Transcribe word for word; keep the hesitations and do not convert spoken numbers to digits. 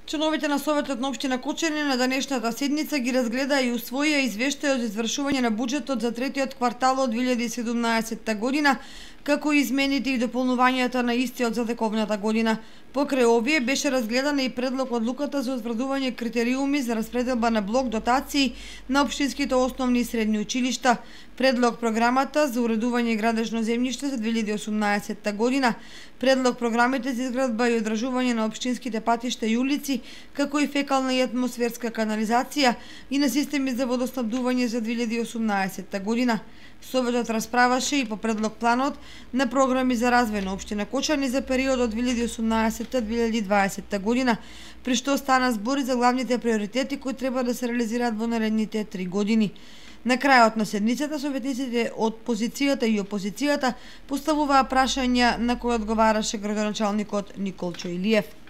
Членовите на Советот на општина Кочани на денешната седница ги разгледа и усвоија извештајот за извршување на буџетот за третиот квартал од две илјади и седумнаесетта година, како и измените и дополнувањата на истиот за тековната година. Покрај овие беше разгледана и предлог одлуката за утврдување критериуми за распределба на блок дотации на општинските основни и средни училишта, предлог програмата за уредување и градежно земјиште за две илјади и осумнаесетта година, предлог програмите за изградба и одржување на општинските патишта и улици, како и фекална и атмосферска канализација и на системи за водоснабдување за две илјади и осумнаесетта година. Советот расправаше и по предлог планот на програми за развој на општина Кочани за периодот две илјади и осумнаесетта до две илјади и дваесетта година, при што стана збор за главните приоритети кои треба да се реализираат во наредните три години. На крајот на седницата, советниците од позицијата и опозицијата поставуваа прашања на кои одговараше градоначалникот Николчо Илиев.